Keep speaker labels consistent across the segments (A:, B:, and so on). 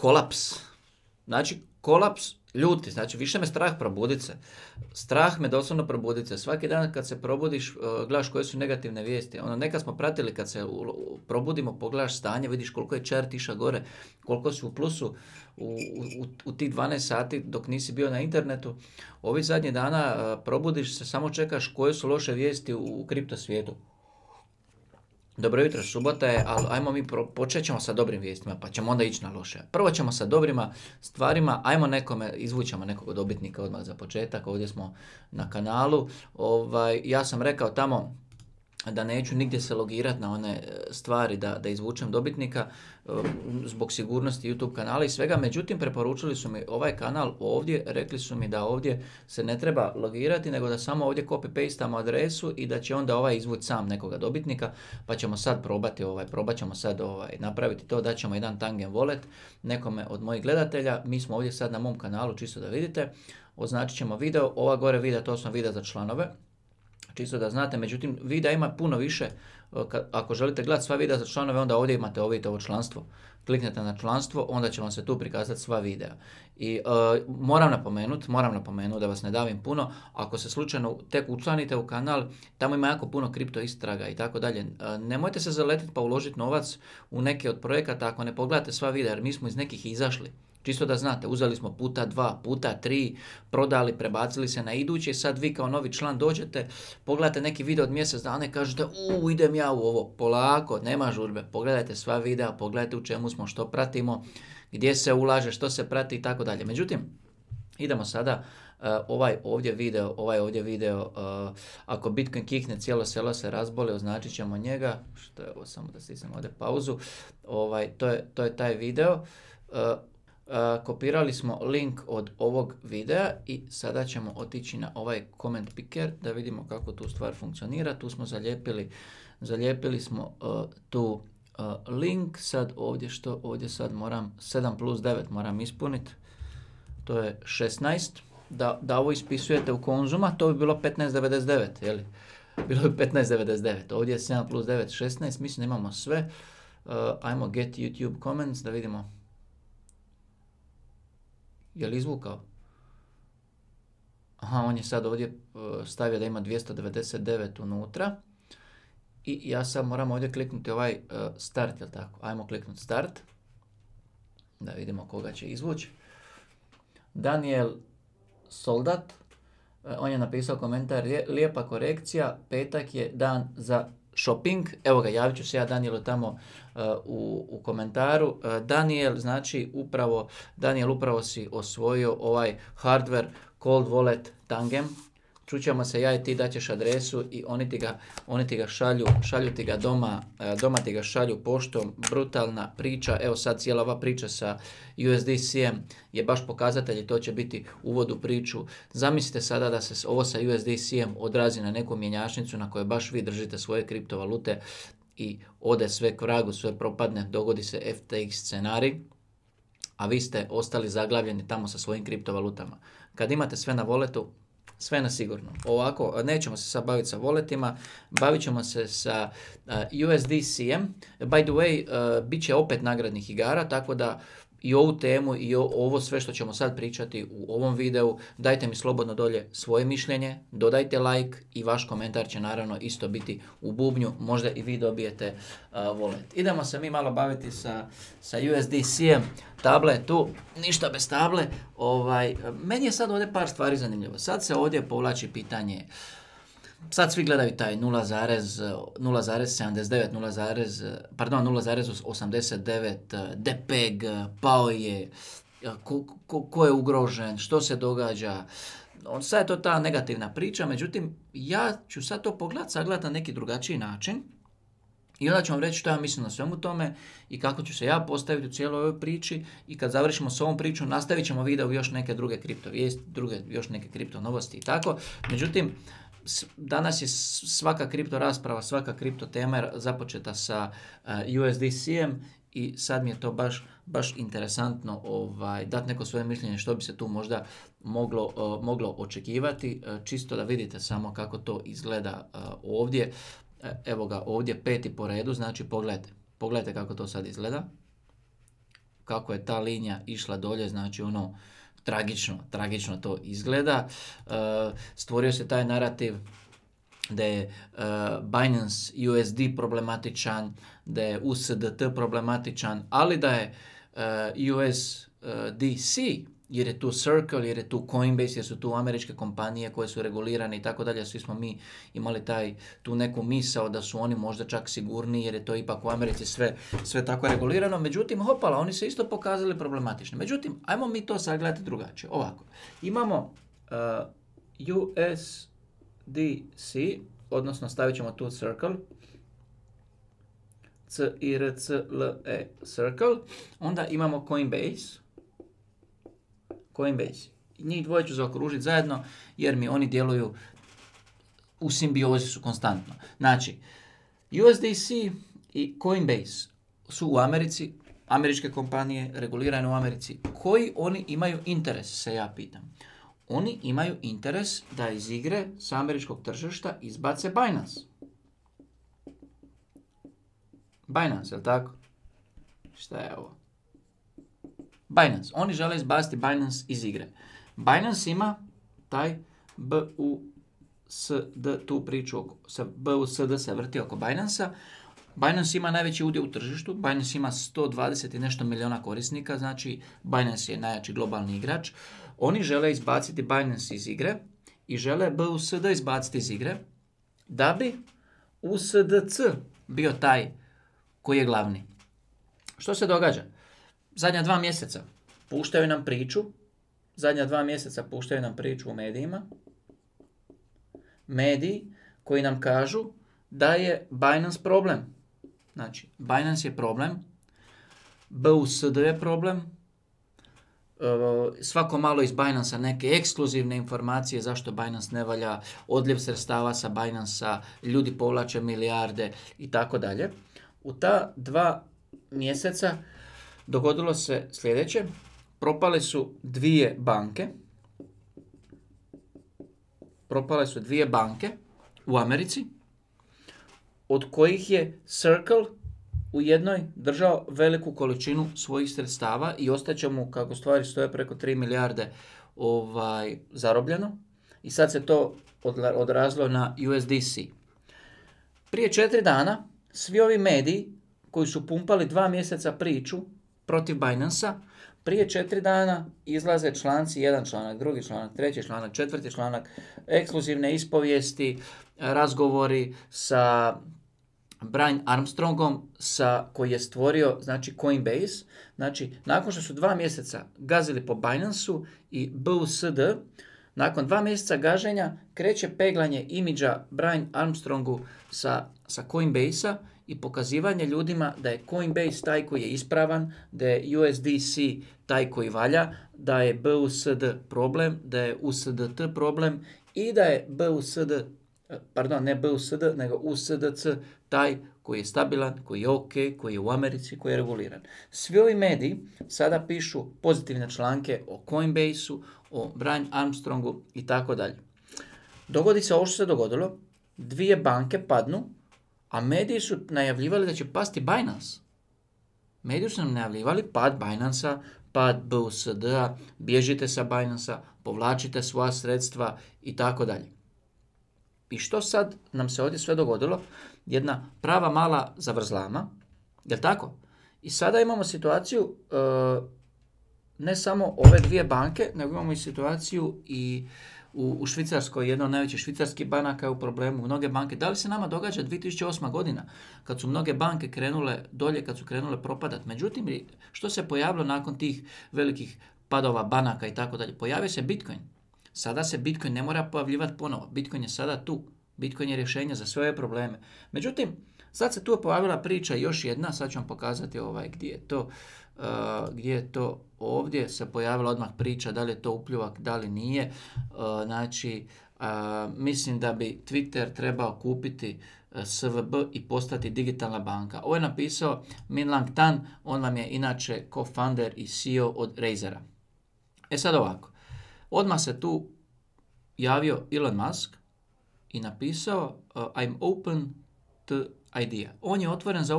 A: kolaps. Znači, kolaps ljuti, znači više me strah probudit se. Strah me doslovno probudit se. Svaki dan kad se probudiš, gledaš koje su negativne vijesti. Nekad smo pratili kad se probudimo, pogledaš stanje, vidiš koliko je chart išao gore, koliko si u plusu u tih 12 sati dok nisi bio na internetu. Ovih zadnjih dana probudiš se, samo čekaš koje su loše vijesti u kripto svijetu. Dobro jutro, subota je, ali ajmo mi počet ćemo sa dobrim vijestima, pa ćemo onda ići na loše. Prvo ćemo sa dobrima stvarima, ajmo izvućemo nekog dobitnika odmah za početak, ovdje smo na kanalu. Ja sam rekao tamo da neću nigdje se logirati na one stvari da izvučem dobitnika zbog sigurnosti YouTube kanala i svega, međutim preporučili su mi ovaj kanal ovdje, rekli su mi da ovdje se ne treba logirati, nego da samo ovdje copy-pastamo adresu i da će onda izvući sam nekoga dobitnika, pa ćemo sad probat ćemo sad napraviti to, da ćemo jedan Tangen Wallet nekome od mojih gledatelja. Mi smo ovdje sad na mom kanalu, čisto da vidite, označit ćemo video, ova gore videa, to sam video za članove, čisto da znate, međutim videa ima puno više. Ako želite gledati sva videa za članove, onda ovdje imate ovo članstvo. Kliknete na članstvo, onda će vam se tu prikazati sva videa. I moram napomenuti da vas ne davim puno, ako se slučajno tek učlanite u kanal, tamo ima jako puno kripto istraga i tako dalje. Nemojte se zaletiti pa uložiti novac u neke od projekata ako ne pogledate sva videa, jer mi smo iz nekih izašli. Čisto da znate, uzeli smo puta 2, puta 3, prodali, prebacili se na idući, sad vi kao novi član dođete, pogledate neki video od mjesec dana i kažete idem ja u ovo, polako, nema žurbe, pogledajte sva videa, pogledajte u čemu smo, što pratimo, gdje se ulaže, što se prati i tako dalje. Međutim, idemo sada, ovaj ovdje video, ako Bitcoin kikne, cijelo selo se razboli, označit ćemo njega, što je ovo, samo da stisnem ovdje pauzu, to je taj video. Kopirali smo link od ovog videa i sada ćemo otići na ovaj comment picker da vidimo kako tu stvar funkcionira. Tu smo zalijepili smo tu link, sad ovdje sad moram 7+9 moram ispuniti, to je 16, da ovo ispisujete u konzuma, to bi bilo 15,99, jeli? Bilo bi 15,99, ovdje je 7+9, 16, mislim da imamo sve. Ajmo get YouTube comments da vidimo. Je li izvukao? Aha, on je sad ovdje stavio da ima 299 unutra. I ja sad moram ovdje kliknuti start, jel tako? Ajmo kliknuti start. Da vidimo koga će izvući. Daniel Soldat. On je napisao komentar, lijepa korekcija, petak je dan za shopping. Evo ga, javit ću se ja Danielu tamo u komentaru. Daniel upravo si osvojio ovaj hardware cold wallet Tangem. Čućemo se ja i ti, daćeš adresu i oni ti ga šalju ti ga doma ti ga šalju poštom. Brutalna priča, evo sad cijela ova priča sa USDC-em je baš pokazatelj i to će biti uvod u priču. Zamislite sada da se ovo sa USDC-em odrazi na neku mjenjačnicu na kojoj baš vi držite svoje kriptovalute i ode sve k vragu, sve propadne, dogodi se FTX scenarij, a vi ste ostali zaglavljeni tamo sa svojim kriptovalutama. Kad imate sve na walletu, sve na sigurno. Ovako, nećemo se sad baviti sa walletima, bavit ćemo se sa USDC-em. By the way, bit će opet nagradnih igara, tako da i ovu temu i ovo sve što ćemo sad pričati u ovom videu, dajte mi slobodno dolje svoje mišljenje, dodajte like i vaš komentar će naravno isto biti u bubnju, možda i vi dobijete wallet. Idemo se mi malo baviti sa USDC-em, tabla je tu, ništa bez table. Meni je sad ovdje par stvari zanimljivo. Sad se ovdje povlači pitanje, sad svi gledaju taj 0,79, 0,89, DPEG, pao je, ko je ugrožen, što se događa. Sad je to ta negativna priča, međutim, ja ću sad to sagledati na neki drugačiji način i onda ću vam reći što ja mislim na svemu tome i kako ću se ja postaviti u cijeloj ovoj priči i kad završimo s ovom pričom nastavit ćemo video još neke druge kripto vijesti, još neke kripto novosti i tako. Međutim, danas je svaka kripto rasprava, svaka kripto tema započeta sa USDC-em i sad mi je to baš interesantno dati neko svoje mišljenje što bi se tu možda moglo očekivati, čisto da vidite samo kako to izgleda ovdje. Evo ga ovdje 5. po redu, znači pogledajte kako to sad izgleda. kako je ta linija išla dolje, znači ono, tragično to izgleda. Stvorio se taj narativ da je Binance USD problematičan, da je USDT problematičan, ali da je USDC, jer je tu Circle, jer je tu Coinbase, jer su tu američke kompanije koje su regulirane i tako dalje. Svi smo mi imali tu neku misao da su oni možda čak sigurniji, jer je to ipak u Americi sve tako regulirano. Međutim, hopala, oni se isto pokazali problematični. Međutim, ajmo mi to sagledati drugačije. Ovako, imamo USDC, odnosno stavit ćemo tu Circle, C-I-R-C-L-E, Circle, onda imamo Coinbase. Njih dvoje ću zaokružiti zajedno jer mi oni djeluju u simbiozi, su konstantno. Znači, USDC i Coinbase su u Americi, američke kompanije, regulirane u Americi. Koji oni imaju interes, se ja pitam. Oni imaju interes da iz igre s američkog tržišta izbace Binance. Binance, je li tako? Šta je ovo? Binance. Oni žele izbaciti Binance iz igre. Binance ima taj BUSD, tu priču sa BUSD se vrti oko Binance-a. Binance ima najveći udio u tržištu. Binance ima 120 i nešto milijuna korisnika, znači Binance je najjači globalni igrač. Oni žele izbaciti Binance iz igre i žele BUSD izbaciti iz igre da bi USDC bio taj koji je glavni. Što se događa? Zadnja 2 mjeseca puštaju nam priču u medijima. Mediji koji nam kažu da je Binance problem. Znači, Binance je problem, BUSD je problem, svako malo iz Binance-a neke ekskluzivne informacije zašto Binance ne valja, odljev sredstava sa Binance-a, ljudi povlače milijarde i tako dalje. U ta 2 mjeseca dogodilo se sljedeće. Propale su 2 banke u Americi, od kojih je Circle u jednoj držao veliku količinu svojih sredstava i ostaće mu, kako stvari stoje, preko 3 milijarde zarobljeno. I sad se to odrazilo na USDC. Prije 4 dana svi ovi mediji koji su pumpali 2 mjeseca priču protiv Binance-a, prije 4 dana izlaze članci, 1 članak, 2 članak, 3 članak, 4 članak, ekskluzivne ispovijesti, razgovori sa Brian Armstrongom koji je stvorio, znači, Coinbase. Znači, nakon što su 2 mjeseca gazili po Binance-u i BUSD, nakon 2 mjeseca gaženja kreće peglanje imidža Brian Armstrongu sa Coinbase-a i pokazivanje ljudima da je Coinbase taj koji je ispravan, da je USDC taj koji valja, da je BUSD problem, da je USDT problem i da je USDC taj koji je stabilan, koji je ok, koji je u Americi, koji je reguliran. Svi ovi mediji sada pišu pozitivne članke o Coinbase-u, o Brian Armstrongu i tako dalje. Dogodi se ovo što se dogodilo, 2 banke padnu, a mediji su najavljivali da će pasti Binance. Mediji su nam najavljivali pad Binance-a, pad BUSD-a, bježite sa Binance-a, povlačite svoja sredstva i tako dalje. I što sad nam se ovdje sve dogodilo? Jedna prava mala zavrzlama, jel tako? I sada imamo situaciju, ne samo ove 2 banke, nego imamo i situaciju i u Švicarskoj, jedna od najvećih švicarskih banaka je u problemu. Mnoge banke, da li se nama događa 2008. godina, kad su mnoge banke krenule dolje, kad su krenule propadati. Međutim, što se pojavilo nakon tih velikih padova banaka i tako dalje? Pojavio se Bitcoin. Sada se Bitcoin ne mora pojavljivati ponovo. Bitcoin je sada tu. Bitcoin je rješenje za sve ove probleme. Međutim, sad se tu pojavila priča još jedna, sad ću vam pokazati gdje je to ovdje se pojavila odmah priča da li je to upljuvak, da li nije. Mislim da bi Twitter trebao kupiti SVB i postati digitalna banka. Ovo je napisao Min Lang Tan, on vam je inače co-founder i CEO od Razera. Sad ovako, odmah se tu javio Elon Musk i napisao I'm open to idea. On je otvoren za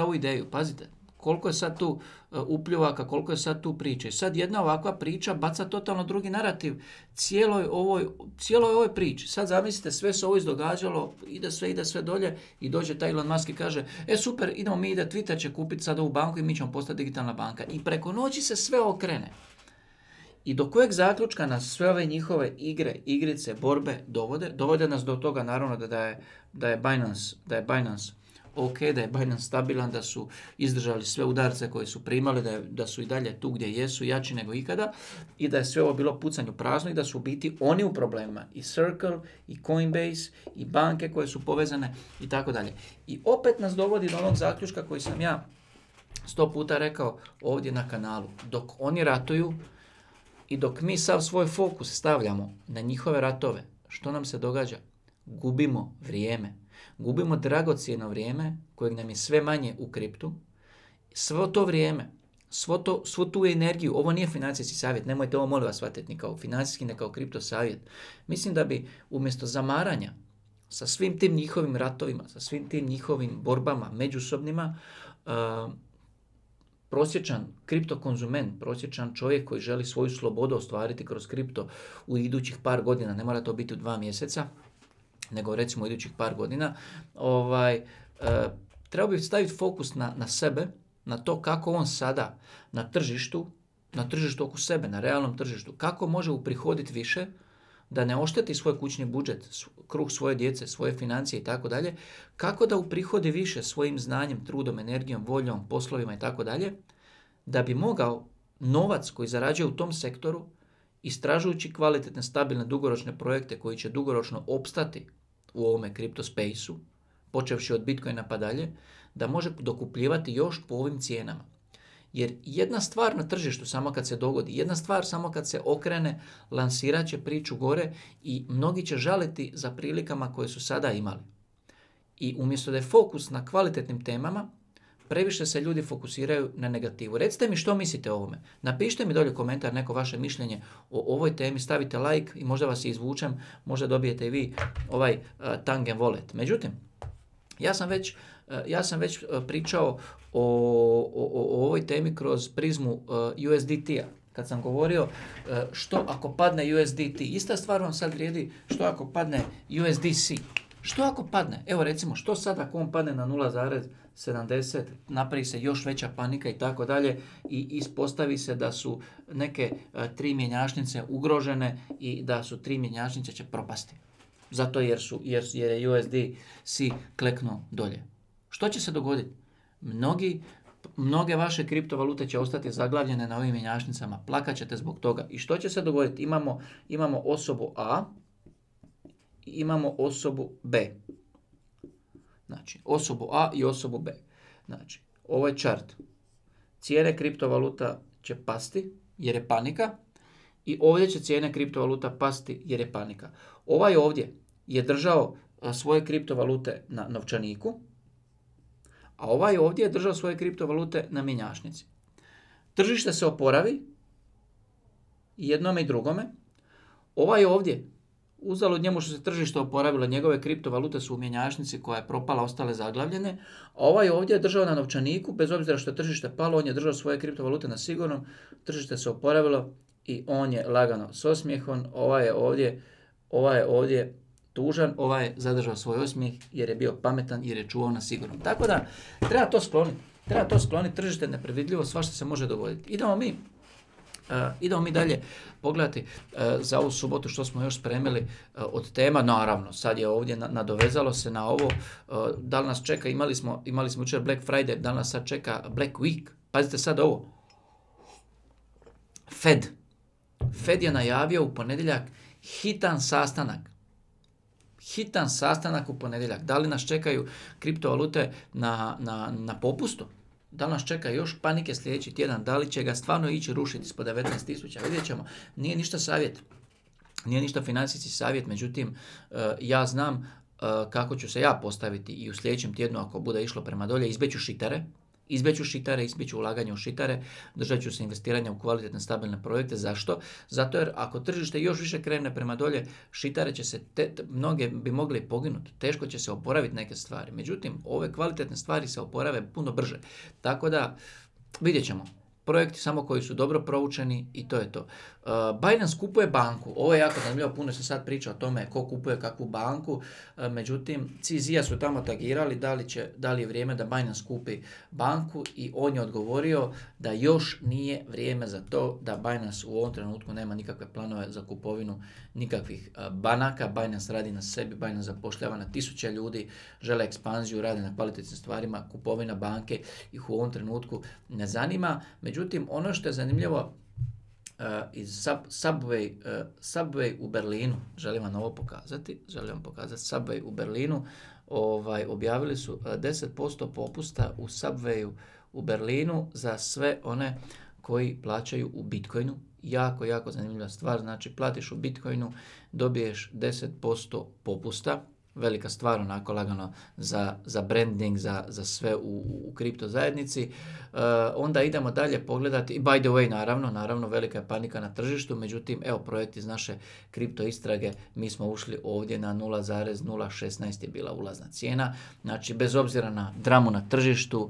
A: ovu ideju. Pazite, koliko je sad tu upljuvaka, koliko je sad tu priče. Sad jedna ovakva priča baca totalno drugi narativ cijeloj ovoj priči. Sad zamislite, sve se ovo izdogađalo, ide sve dolje i dođe taj Elon Musk i kaže, super, idemo mi, Twitter će kupiti sad ovu banku i mi ćemo postati digitalna banka. I preko noći se sve okrene. I do kojeg zaključka nas sve ove njihove igrice, borbe dovode nas do toga, naravno, da je Binance ok, da je Binance stabilan, da su izdržali sve udarce koje su primali, da su i dalje tu gdje jesu, jači nego ikada, i da je sve ovo bilo pucanju prazno i da su u biti oni u problemima. I Circle, i Coinbase, i banke koje su povezane i tako dalje. I opet nas dovodi do onog zaključka koji sam ja 100 puta rekao ovdje na kanalu. Dok oni ratuju i dok mi sav svoj fokus stavljamo na njihove ratove, što nam se događa? Gubimo vrijeme. Gubimo dragocjeno vrijeme kojeg nam je sve manje u kriptu. Svo to vrijeme, svu tu energiju, ovo nije financijski savjet, nemojte ovo molim vas shvatiti ni kao financijski, ni kao kripto savjet. Mislim da bi umjesto zamaranja sa svim tim njihovim ratovima, sa svim tim njihovim borbama međusobnima, prosječan kripto konzument, prosječan čovjek koji želi svoju slobodu ostvariti kroz kripto u idućih par godina, ne mora to biti u 2 mjeseca, nego recimo u idućih par godina, treba bi staviti fokus na sebe, na to kako on sada na tržištu oko sebe, na realnom tržištu, kako može uprihoditi više, da ne ošteti svoj kućni budžet, kruh svoje djece, svoje financije i tako dalje, kako da uprihodi više svojim znanjem, trudom, energijom, voljom, poslovima i tako dalje, da bi mogao novac koji zarađuje u tom sektoru, istražujući kvalitetne, stabilne, dugoročne projekte koji će dugoročno opstati u ovome kripto spaceu, počevši od Bitcoina pa dalje, da može dokupljivati još po ovim cijenama. Jer jedna stvar na tržištu, samo kad se dogodi, jedna stvar samo kad se okrene, lansirat će priču gore i mnogi će žaliti za prilikama koje su sada imali. I umjesto da je fokus na kvalitetnim temama, previše se ljudi fokusiraju na negativu. Recite mi što mislite o ovome. Napišite mi dolje komentar neko vaše mišljenje o ovoj temi, stavite like i možda vas izvučem, možda dobijete i vi ovaj Tangen Wallet. Međutim, ja sam već pričao o ovoj temi kroz prizmu USDT-a. Kad sam govorio što ako padne USDT, ista stvar vam sad vrijedi što ako padne USDC. Što ako padne? Evo recimo, što sad ako on padne na 0,70, napravi se još veća panika i tako dalje i ispostavi se da su neke 3 mjenjačnice ugrožene i da su 3 mjenjačnice će propasti. Zato jer je USDC kleknuo dolje. Što će se dogoditi? Mnoge vaše kriptovalute će ostati zaglavljene na ovim mjenjačnicama. Plakat ćete zbog toga. I što će se dogoditi? Imamo osobu A i imamo osobu B. Znači, osobu A i osobu B. Znači, ovo je chart. Cijene kriptovaluta će pasti jer je panika i ovdje će cijene kriptovaluta pasti jer je panika. Ovaj ovdje je držao svoje kriptovalute na novčaniku, a ovaj ovdje je držao svoje kriptovalute na mjenjačnici. Tržište se oporavi jednome i drugome. Ovaj ovdje, uzalud njemu što se tržište oporavilo, njegove kriptovalute su u mjenjačnici koja je propala, ostale zaglavljene, a ovaj ovdje je držao na novčaniku, bez obzira što je tržište palo, on je držao svoje kriptovalute na sigurnom, tržište se oporavilo i on je lagano s osmijehom, ovaj je ovdje tužan, ovaj je zadržao svoj osmijeh jer je bio pametan, jer je čuvao na sigurnom. Tako da treba to skloniti, tržište nepredvidljivo, svašta se može dogoditi. Idemo mi dalje pogledati za ovu subotu što smo još spremili od tema. Naravno, sad je ovdje nadovezalo se na ovo. Da li nas čeka, imali smo jučer Black Friday, da li nas sad čeka Black Week. Pazite sad ovo. Fed je najavio u ponedjeljak hitan sastanak u ponedjeljak. Da li nas čekaju kriptovalute na popustu? Da li nas čeka još panike sljedeći tjedan? Da li će ga stvarno ići rušiti ispod 19.000? Vidjet ćemo. Nije ništa savjet. Nije ništa financijski savjet. Međutim, ja znam kako ću se ja postaviti i u sljedećem tjednu ako bude išlo prema dolje. Izbeću šitere. izbjeću šitare, izbjeću ulaganje u šitare, držat ću se investiranja u kvalitetne stabilne projekte. Zašto? Zato jer ako tržište još više krene prema dolje, šitare će se, mnoge bi mogli poginuti, teško će se oporaviti neke stvari. Međutim, ove kvalitetne stvari se oporave puno brže. Tako da, vidjet ćemo. Projekti samo koji su dobro proučeni i to je to. Binance kupuje banku. Ovo je jako zanimljivo, puno se sad priča o tome ko kupuje kakvu banku. Međutim, CZ-a su tamo tagirali da li je vrijeme da Binance kupi banku i on je odgovorio da još nije vrijeme za to, da Binance u ovom trenutku nema nikakve planove za kupovinu nikakvih banaka. Binance radi na sebi, Binance zapošljava na 1000 ljudi, žele ekspanziju, radi na kvalitetnim stvarima, kupovina banke ih u ovom trenutku ne zanima. Međutim, ono što je zanimljivo, iz Subway u Berlinu, želim vam ovo pokazati, Subway u Berlinu, objavili su 10% popusta u Subwayu u Berlinu za sve one koji plaćaju u Bitcoinu. Jako, jako zanimljiva stvar, znači platiš u Bitcoinu, dobiješ 10% popusta. Velika stvar, onako lagano za branding, za sve u kripto zajednici. Onda idemo dalje pogledati, i by the way, naravno, velika je panika na tržištu, međutim, evo projekt iz naše kripto istrage, mi smo ušli ovdje na 0,016 je bila ulazna cijena, znači bez obzira na dramu na tržištu,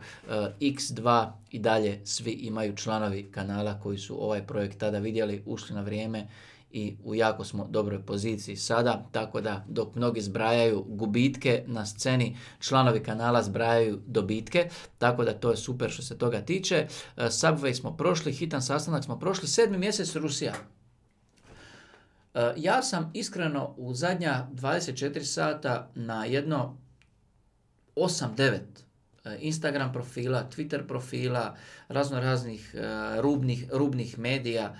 A: X2 i dalje svi imaju članovi kanala koji su ovaj projekt tada vidjeli, ušli na vrijeme, i u jako smo dobroj poziciji sada, tako da dok mnogi zbrajaju gubitke na sceni, članovi kanala zbrajaju dobitke, tako da to je super što se toga tiče. Subway smo prošli, hitan sastanak smo prošli, 7. mjesec Rusija. Ja sam iskreno u zadnja 24 sata na jedno 8-9 Instagram profila, Twitter profila, raznih rubnih medija,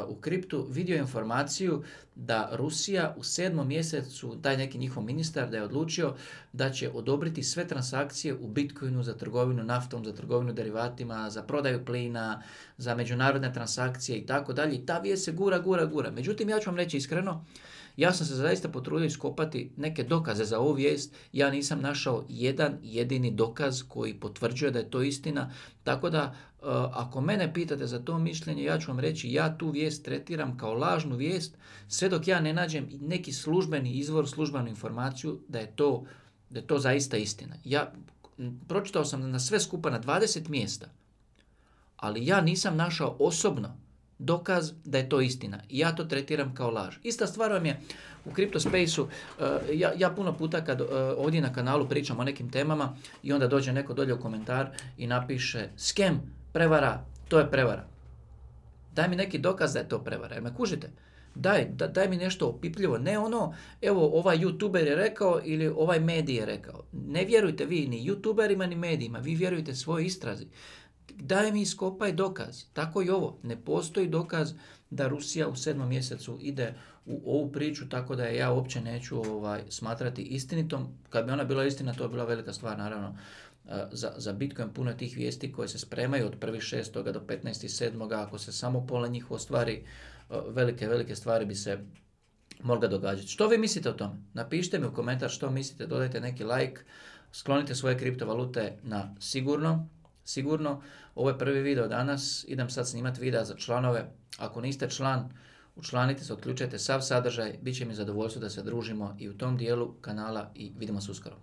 A: u kriptu vidio informaciju da Rusija u 7. mjesecu, taj neki njihov ministar, da je odlučio da će odobriti sve transakcije u Bitcoinu za trgovinu naftom, za trgovinu derivatima, za prodaju plina, za međunarodne transakcije i tako dalje. I ta vijest se gura. Međutim, ja ću vam reći iskreno, ja sam se zaista potrudio iskopati neke dokaze za ovu vijest. Ja nisam našao jedan jedini dokaz koji potvrđuje da je to istina. Tako da, ako mene pitate za to mišljenje, ja ću vam reći, ja tu vijest tretiram kao lažnu vijest, sve dok ja ne nađem neki službeni izvor, službenu informaciju da je to zaista istina. Ja pročitao sam na sve skupa na 20 mjesta, ali ja nisam našao osobno dokaz da je to istina. I ja to tretiram kao laž. Ista stvar vam je u CryptoSpace-u. Ja puno puta kad ovdje na kanalu pričam o nekim temama i onda dođe neko dolje u komentar i napiše scam, prevara, to je prevara. Daj mi neki dokaz da je to prevara. Jer me kužite? Daj mi nešto opipljivo. Ne ono, evo ovaj youtuber je rekao ili ovaj medij je rekao. Ne vjerujte vi ni youtuberima ni medijima. Vi vjerujte svojoj istrazi. Daj mi iskopaj dokaz. Tako i ovo. Ne postoji dokaz da Rusija u 7. mjesecu ide u ovu priču, tako da je ja uopće neću smatrati istinitom. Kad bi ona bila istina, to je bila velika stvar, naravno, za Bitcoin. Puno je tih vijesti koje se spremaju od 1.6. do 15.7. Ako se samo pola njih ostvari, velike stvari bi se mogle događati. Što vi mislite o tome? Napišite mi u komentar što mislite, dodajte neki like, sklonite svoje kriptovalute na sigurno. Ovo je prvi video danas, idem sad snimati videa za članove. Ako niste član, učlanite se, otključajte sav sadržaj, bit će mi zadovoljstvo da se družimo i u tom dijelu kanala i vidimo se uskoro.